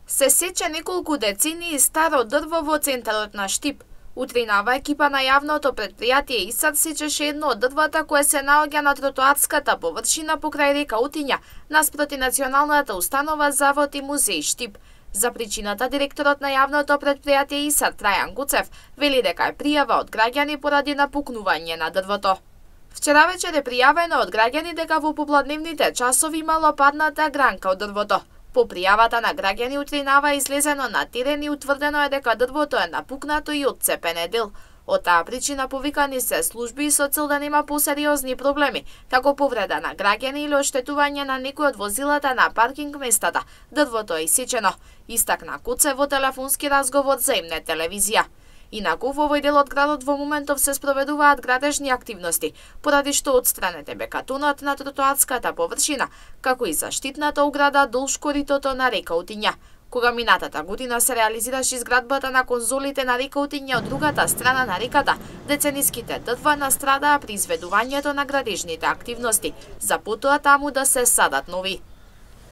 Се сече неколку децении старо дрво во центарот на Штип. Утринава екипа на јавното предпријатие ИСАР сечеше едно од дрвата кое се наоѓа на тротоарската површина покрај река Утиња, наспроти Националната установа Завод и музеј Штип. За причината директорот на јавното предпријатие ИСАР Трајан Гуцев вели дека е пријава од граѓани поради напукнување на дрвото. Вчера вечер е пријавено од граѓани дека во попладневните часови имало падната гранка од дрвото. По пријавата на граѓани утринава излезено на терен и утврдено е дека дрвото е напукнато и отцепен е дел. Од таа причина повикани се служби со цел да нема посериозни проблеми, како повреда на граѓани или оштетување на некој од возилата на паркинг местата. Дрвото е исечено, истакна Куце во телефонски разговор за Имне телевизија. Инаку во овој дел од градот во моментов се спроведуваат градежни активности, поради што отстранет е бекатонот на тротоарската површина, како и заштитната ограда долж коритото на река Утиња. Кога минатата година се реализираше изградбата на конзолите на река Утиња од другата страна на реката, децениските дрва настрадаа при изведувањето на градежните активности, за потоа таму да се садат нови.